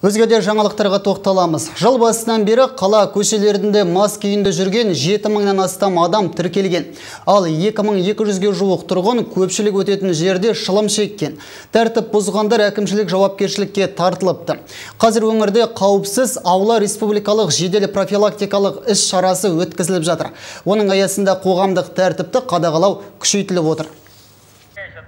Өзгеде жаңалықтарға тоқталамыз. Жыл басынан бері қала көшелерінде мас күйінде жүрген 7000-нан астам адам тіркелген. Ал 2200-ге жуық тұрғын көпшілік өтетін жерде шылым шеккен. Тәртіп бұзғандар әкімшілік жауапкершілікке тартылыпты. Қазір өңірде қауіпсіз аула республикалық жедел профилактикалық іс шарасы өткізіліп жатыр. Оның аясында қоғамдық тәртіпті қадағалау күшейтіліп отыр.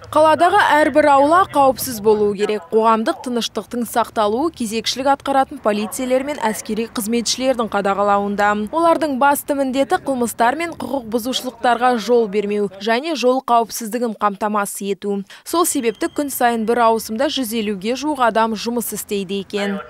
Қаладағы әрбір аула қауіпсіз болуы керек. Қоғамдық тыныштықтың сақталуы кезекшілік атқаратын полицейлер мен әскери қызметшілердің қадағалауында. Олардың басты міндеті қылмыстар мен құқық бұзушылықтарға жол бермеу және жол қауіпсіздігін қамтамасыз ету. Сол себепті күн сайын бір ауысымда 150-ге жуық адам жұмыс істейді екен.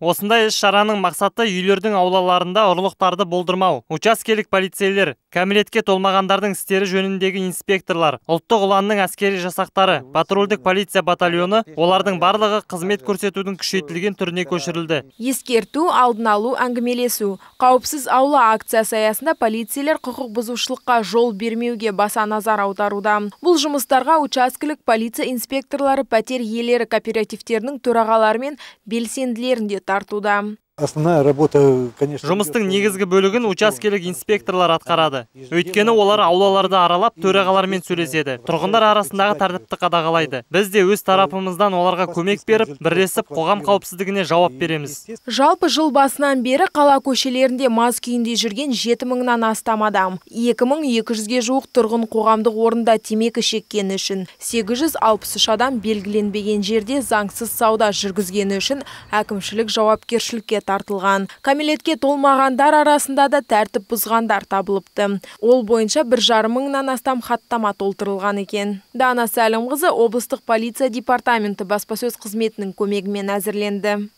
Осындай іс-шараның мақсаты үйлердің аулаларында ұрлықтарды болдырмау. Учаскелік полицейлер, кәмелетке толмағандардың істері жөніндегі инспекторлар, ұлттық ұланның әскери жасақтары, патрульдік полиция батальоны, олардың барлығы қызмет көрсетудің күшейтілген түріне көшірілді. Ескерту, алдын алу, әңгімелесу. Қауіпсіз аула акциясы аясында полицейлер құқық бұзушылыққа жол бермеуге баса назар аударуда. Бұл жұмыстарға учаскелік полиция инспекторлары, пәтер иелері кооперативтерінің төрағалары мен белсенділерін де тартуда. Основная работа, конечно, жұмыстың негізгі бөлігін учаскелік инспекторлар атқарады. Өйткені олар аулаларды аралап төрағалармен сөйлеседі. Тұрғындар арасындағы тәртіпті қадағалайды. Біз де өз тарапымыздан оларға көмек беріп, бірлесіп қоғам қауіпсіздігіне жауап береміз. Жалпы жыл басынан бері қала көшелерінде мас күйінде жүрген 7000-нан астам адам. 2200-ге жуық тұрғын қоғамдық орында темекі шеккені үшін, 863 адам белгіленбеген жерде заңсыз сауда жүргізгені үшін әкімшілік жауапкершілікке тартылған. Кәмелетке толмағандар арасында да тәртіп бұзғандар табылыпты. Ол бойынша 1,5 мыңнан астам хаттама толтырылған екен. Дана Сәлімқызы облыстық полиция департаменті баспасөз қызметінің көмегімен әзірленді.